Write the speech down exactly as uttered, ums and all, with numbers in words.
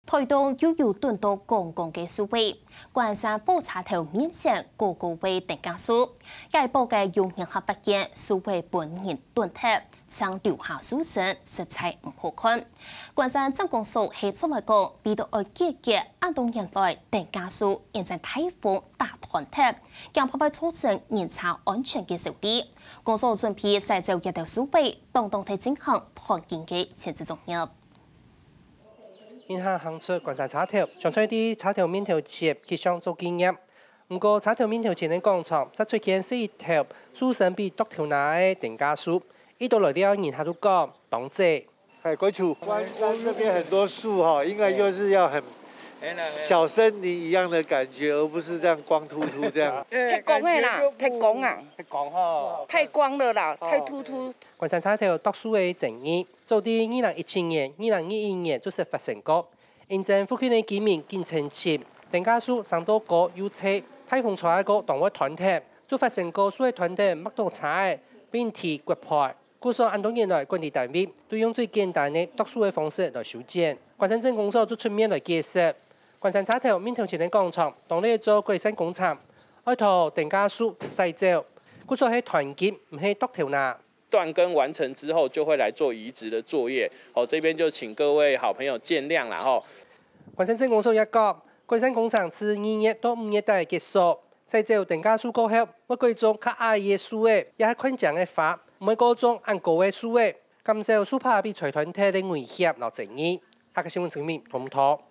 臺東又有蹲到光光个樹仔，關山火車頭面前高高个登嘉樹，該一駁个有人客發現樹仔分人蹲忒，正留下樹身，實在毋好看。關山鎮公所係出來講，為著愛解決恁多年來登嘉樹因為颱風打斷忒，驚怕會造成人車安全个憂慮，公所準備徙走這兜樹仔，當當在進行盤根个清理作業。 人客行出關山車頭，想在這車頭面頭前翕相做紀念。毋過車頭面頭前个廣場，正出現細一頭樹身比桌頭那个登嘉樹，一到來尞人客都講當靚。哎，歸處。關山那邊很多樹哈，應該就是要很小森林一樣的感覺，而不是這樣光禿禿這樣。太光了啦，太光啊，太光哈，太光了啦，太禿禿。關山車頭剁樹个爭議， 早在二零一七年、二零二一年就識發生過。因為附近个居民緊爭執，登嘉樹生到高又斜，颱風吹過當會斷忒，就發生過樹仔斷忒，硞著車仔，並提骨牌。故所恁多年來，管理單位都用最簡單个剁樹个方式來修剪。關山鎮公所就出面來解釋，關山車頭面頭前个廣場，當來做改善工程，愛同登嘉樹徙走，故所係斷根，毋係剁頭那。 斷根完成之後，就會來做移植的作業。好，這邊就請各位好朋友見諒啦吼。關山鎮公所也講，改善工程自二月到五月底結束，徙走登嘉樹過後，會改種較矮个樹仔，也係看靚个花，毋會過種恁高个樹仔，減少樹杈被吹斷忒个危險摎爭議。客家新聞陳明報導。